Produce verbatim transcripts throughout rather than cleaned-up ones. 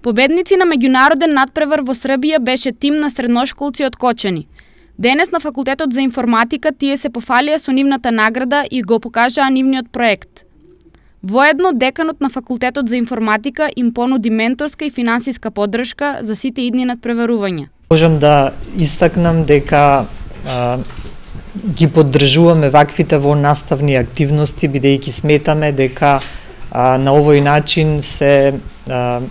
Победници на меѓународен натпревар во Србија беше тим на средношколци од Кочани. Денес на факултетот за информатика тие се пофалија со нивната награда и го покажаа нивниот проект. Воедно, деканот на факултетот за информатика им понуди менторска и финансиска поддршка за сите идни надпреварувања. Можам да истакнам дека а, ги поддржуваме ваквите во наставни активности, бидејќи сметаме дека а, на овој начин се а,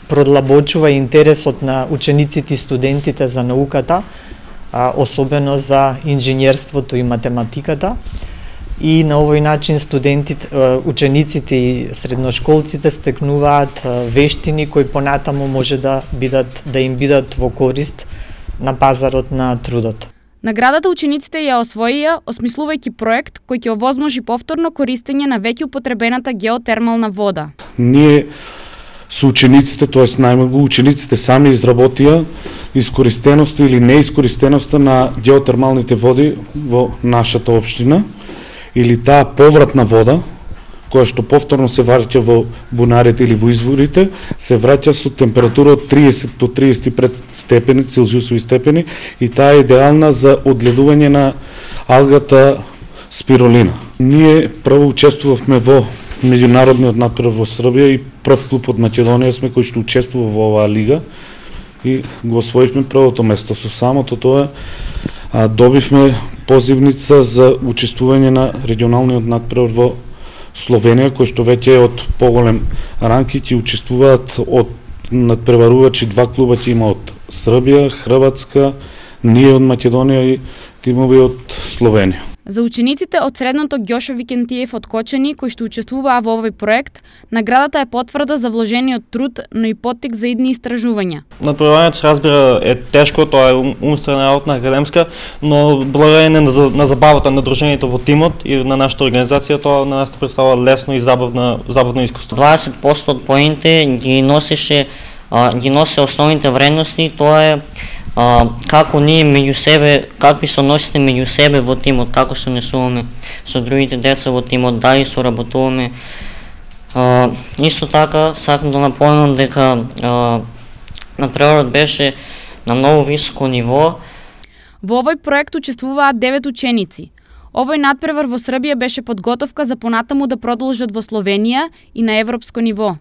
продлабочува интересот на учениците и студентите за науката, а, особено за инженерството и математиката. И на овој начин студентите, учениците и средношколците стекнуваат вештини кои понатаму може да бидат да им бидат во корист на пазарот на трудот. Наградата учениците ја освоија осмислувајќи проект кој ќе овозможи повторно користење на веќе употребената геотермална вода. Ние со учениците, тоест најмногу учениците сами изработија искористеноста или неискористеноста на геотермалните води во нашата општина, или таа повратна вода, која што повторно се враќа во бунарите или во изворите, се враќа со температура од триесет до триесет и пет степени, целзиусови степени, и таа е идеална за одледување на алгата спиролина. Ние прво учествувавме во меѓународниот натпревар во Србија и прв клуб од Македонија сме кој што учествува во оваа лига и го освоивме првото место. Со самото тоа а, добивме позивница за учествување на регионалниот натпревар во Словенија, кој што веќе е од поголем ранг и ќе учествуваат од надпреварувачи, два клуба ќе има од Србија, Хрватска, ние од Македонија и тимови од Словенија. За учениците од средното Ѓошо Викентиев од Кочани, кои што учествуваа во овој проект, наградата е потврда за вложениот труд, но и поттик за идни истражувања. Надпреварувањето се разбира е тешко, тоа е умствена работа, академска, но благодарение на, на забавата на дружењето во тимот и на нашата организација, тоа на нас представува лесно и забавно, забавно искуство. дваесет проценти од поените ги носеше, а, ги носе основните вредности, тоа е А, како ние меѓу себе, какви се односите меѓу себе во тимот, како се однесуваме со другите деца во тимот, дали соработуваме. А, исто така, сакам да напоменам дека а, надпреварот беше на многу високо ниво. Во овој проект учествуваат девет ученици. Овој надпревар во Србија беше подготовка за понатаму да продолжат во Словенија и на европско ниво.